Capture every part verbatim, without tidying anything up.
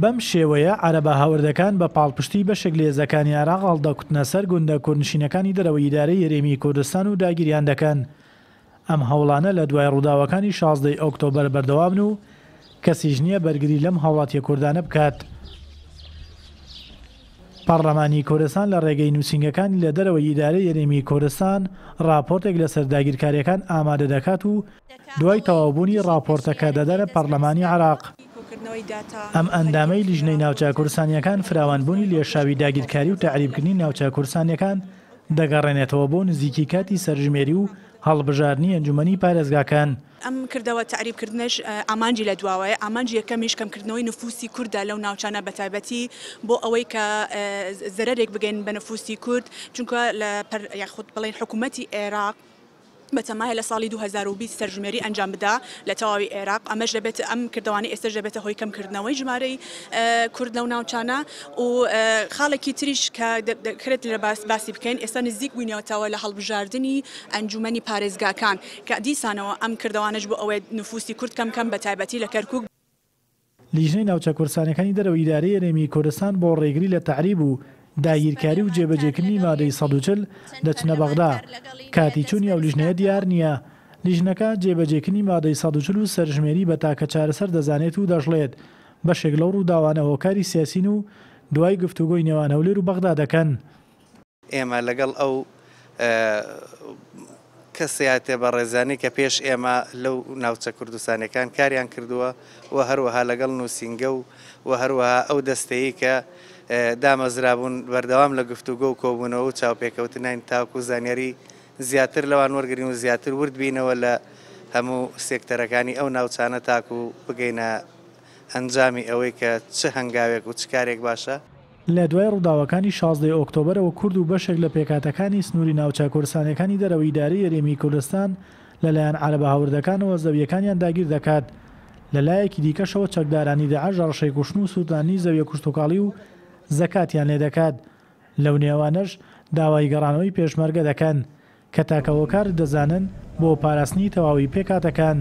بەم شێوەیە عەرەبە هاوردەکان بە پاڵپشتی بەشێک لە هێزەکانی عێراق هەڵدەکوتنە سەر گوندە کوردنشینەکانی دەرەوەی ئیدارەی هەرێمی کوردستان و داگیریان دەکەن. ئەم هەوڵانە لە دوای ڕووداوەکانی شازدەی ئۆکتۆبەر بەردەوامن و کەسیش نییە بەرگری لەم هاوڵاتیە کوردانە بکات. پەرلەمانی کوردستان لە ڕێگەی نووسینگەکانی لە دەرەوەی ئیدارەی هەرێمی کوردستان ڕاپۆرتێک لەسەر داگیرکاریەکان ئامادە دەکات و دوای تەواوبوونی ڕاپۆرتەکە دەدەنە پەرلەمانی عێراق. ئەم ئەندامەی لیژنەی ناوچە کوردستانیەکان فراوانبوونی لێشاوی داگیرکاری و تەعریبکردنی ناوچە کوردستانیەکان دەگەڕێنێتەوە بۆ نزیکی کاتی سەرژمێری و هەڵبژاردنی ئەنجومەنی پارێزگاکان. ئەم کردەوە تەعریبکردنەش ئامانجی لە دواوەیە، ئامانجی یەکەمیش کەمکردنەوەی نفوسی کوردە لەو ناوچانە، بەتایبەتی بۆ ئەوەی کە زەرەرێک بگەین بە نفوسی کورد، چونکە لە یاخود بڵێن حکوومەتی عێراق بەتەمایە لە ساڵی دوو هەزار و بیست سەرژمێری ئەنجام بدا لە تەواوی عێراق. ئەمەش دەبێت ئەم کردوانەی ئێستاش دەبێتە هۆی کەمکردنەوەی ژمارەی کورد لەو ناوچانە. و خاڵێکی تریش کە دەکرێت لە باسی بکەین، ئێستا نزیک بووینەوەتەوە لە هەڵبژاردنی ئەنجومەنی پارێزگاکان کە دیسانەوە ئەم کردوانەش بۆ ئەوەی نفوسی کورد کەم کەم بە تایبەتی لە کەرکوک. لیژنەی ناوچە کوردستانەکانی دەرەوەی ئیدارەی هەرێمی کوردستان بۆ ڕێگری لە تەعریب و داگیرکاری و جێبەجێکردنی مادەی سەد و چل دەچنە بەغدا. کاتی چوونی ئەو لیژنەیە دیار نییە. لیژنەکە جێبەجێکردنی مادەی سەد و چل و سەرژمێری بە تاکە چارەسەر دەزانێت و دەشڵێت بەشێک لەو ڕووداوانە هۆکاری سیاسین و دوای گفتوگۆی نێوان هەولێر و بەغدا دەکەن. ئێمە لەگەڵ ئەو کەسیاتێ بەڕێزانی کە پێش ئێمە لەو ناوچە کوردستانەکان کاریان کردووە و هەروەها لەگەڵ نووسینگە و و هەروەها ئەو دەستەیە کە دامەزرابوون بەردەوام لە گفتوگۆ و کۆبوونەوە و چاوپێکەوتنین تاکو زانیاری زیاتر لەوان وەرگین و زیاتر ورد بینەوە لە هەموو سێکتەرەکانی ئەو ناوچانە تاکو بگەینە ئەنجامی ئەوەی کە چ هەنگاوێک و چ کارێک باشە. لە دوای ڕووداوەکانی شازدەی ئۆکتۆبەرەوە کورد و بەشێک لە پێکهاتەکانی سنووری ناوچە کوردستانەکانی دەرەوەی ئیدارەی هەرێمی کوردستان لەلایەن عەرەبە هاوردەکانەوە زەویەکانیان داگیر دەکات. لە لایەکی دیکەشەوە چەکدارانی داعش ڕەشەی کوشتن و سووتاندنی زەویە کشتوکاڵی و زەکاتیان لێ دەکات. لەو نێوانەش داوای گەڕانەوەی پێشمەرگە دەکەن کە تاکە هۆکار دەزانن بۆ پاراستنی تەواوی پێکهاتەکان.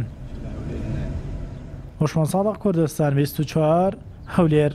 هۆشمەند سادق، کوردستان بیست و چوار، هەولێر.